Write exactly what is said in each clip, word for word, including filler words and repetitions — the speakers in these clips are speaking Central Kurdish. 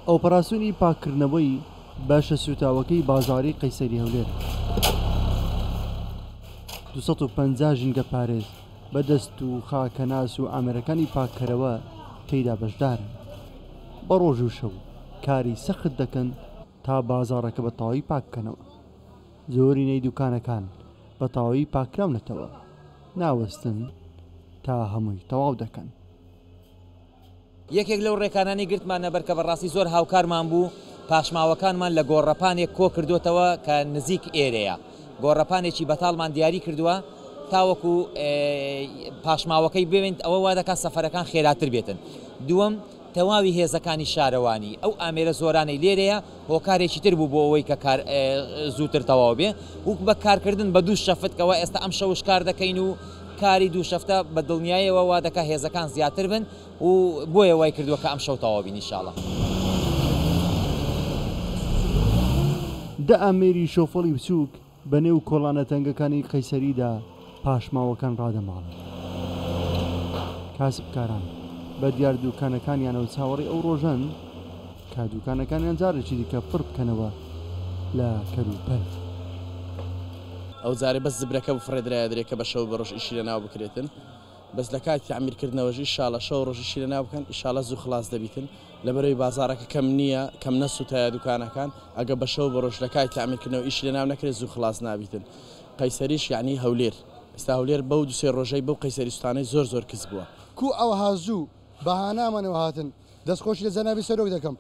ئۆپەراسیۆنی پاککردنەوەی بەشە سووتاوەکەی بازاڕی قەیسەری هەولێر. دوو سەد و پەنجا ژینگە پارێز بە دەست و خاکەناس و ئامێرەکانی پاککەرەوە تێیدا بەشدارن. بە ڕۆژ و شەو کاری سەخت دەکەن تا بازاڕەکە بە تەواوی پاک بکەنەوە. زۆرینەی دوکانەکان بە تەواوی پاکراونەتەوە، ناوەستن تا هەمووی تەواو دەکەن. یەکێک لەو ڕێکانانی گرتمانە بەر کە بەڕاستی زۆر هاوکارمان بوو، پاشماوەکانمان لە گۆڕەپانێک کۆ کردوتەوە کە نزیک ئێرەیە. گۆڕەپانێکی بەتاڵمان دیاری کردووە تاوەکو پاشماوەکەی ببێنیت، ئەوە وا دەکات سەفەرەکان خێراتر بێتن. دووەم، تەواوی هێزەکانی شارەوانی ئەو ئامێرە زۆرانەی لێرەیە هۆکارێکی تر بوو بۆ ئەوەی کە کار زووتر تەواو بێ و بە کارکردن بە دوو شەفت کەەوە ئێستا ئەم شەوش کار دەکەین و کاری دوو شەفتە بە دڵنیایەوە وا دەکات هێزەکان زیاتر بن و بۆیە وای کردووە کە ئەم شەو تەواو بین ئینشاڵڵا. دە ئامێری شۆفەڵی بچووک بە نێو کۆڵانە تەنگەکانی قەیسەریدا پاشماوەکان ڕادەماڵن. کاسبکاران بە دیار دوکانەکانیانەوە چاوەڕێی ئەو ڕۆژەن کە دوکانەکانیان جارێکی دیکە پڕ بکەنەوە لە کەلوپەل. ئەو جارێ بەس زبرەکە بفڕێدرایە درێ کە بە شەو بە ڕۆژ ئیشی لەناو بکرێتن، بەس لە کاتی تعمیرکردنەوەش ئیشاڵە شەو ڕۆژ ئیشی لەناو بکەن، ئیشاڵە زوو خلاص دەبیتن. لەبەرەوەی بازارەکە کەم نییە، کەم نەسووتایە دوکانەکان، ئەگە بە شەو بە ڕۆژ لە کاتی تعمیرکردنەوە ئیشی لەناو نەکرێت زوو خلاص نابیتن. قەیسەریش یعنی هەولێر، ئێستا هەولێر بەو دوو سێ ڕۆژەی بەو قەیسەری سوتانەی زۆر زۆر کز بووە. کو ئەوها زوو بەهانامانەوە هاتن، دەستخۆشی لە جەنابی سەرۆک دەکەم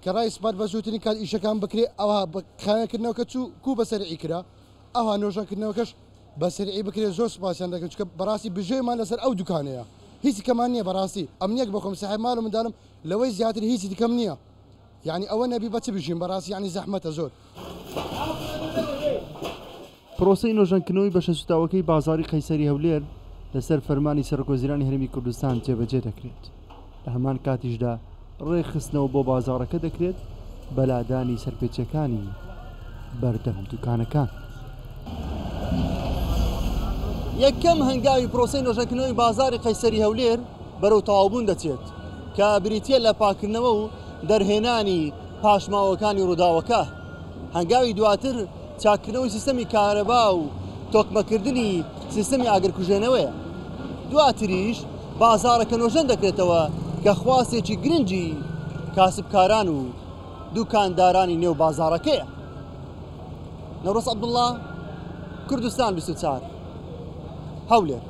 کە ڕای سپارد بە زووترین کات ئیشەکان بکرێ، ئەوها خاوێنکردنەوەکە چوو کو بە سەرعی کرا، ئەوها نۆژەنکردنەوەکەش بە سەرعی بکرێت. زۆر سپاسیان دەکەم چونکە بەڕاستی بژێومان لەسەر ئەو دوکانەیە، هیچی کەمان نییە. بەڕاستی ئەمنیەک بخۆم ساحێب ماڵ و منداڵم لەوەی زیاتر هیچی دیکەم نییە، یعنی ئەوە نەبی بە چ بژیم بەڕاستی، یعنی زەحمەتە زۆر. پرۆسەی نۆژەنکردنەوەی بەشە سوتاوەکەی بازاڕی قەیسەری هەولێر لەسەر فەرمانی سەرۆکوەزیرانی هەرێمی کوردستان جێبەجێ دەکرێت. لە هەمان کاتیشدا ڕێکخستنەوە بۆ بازاڕەکە دەکرێت بەلادانی سەرپێچەکانی بەردەم دوکانەکان. یەکەم هەنگاوی پرۆسەی نۆژەنکردنەوەی بازاڕی قەیسەری هەولێر بەرەو تەواوبوون دەچێت کە بریتیە لە پاکردنەوە و دەرهێنانی پاشماوەکانی ڕووداوەکە. هەنگاوی دواتر چاکردنەوەی سیستەمی کارەبا و تۆکمەکردنی سیستەمی ئاگرکوژێنەوەیە. دواتریش بازاڕەکە نۆژەن دەکرێتەوە کە خواستێکی گرنگی کاسبکاران و دوکاندارانی نێو بازاڕەکەیە. نەورۆز عەبدوڵڵا، کوردستان بیست و چوار، هەولێر.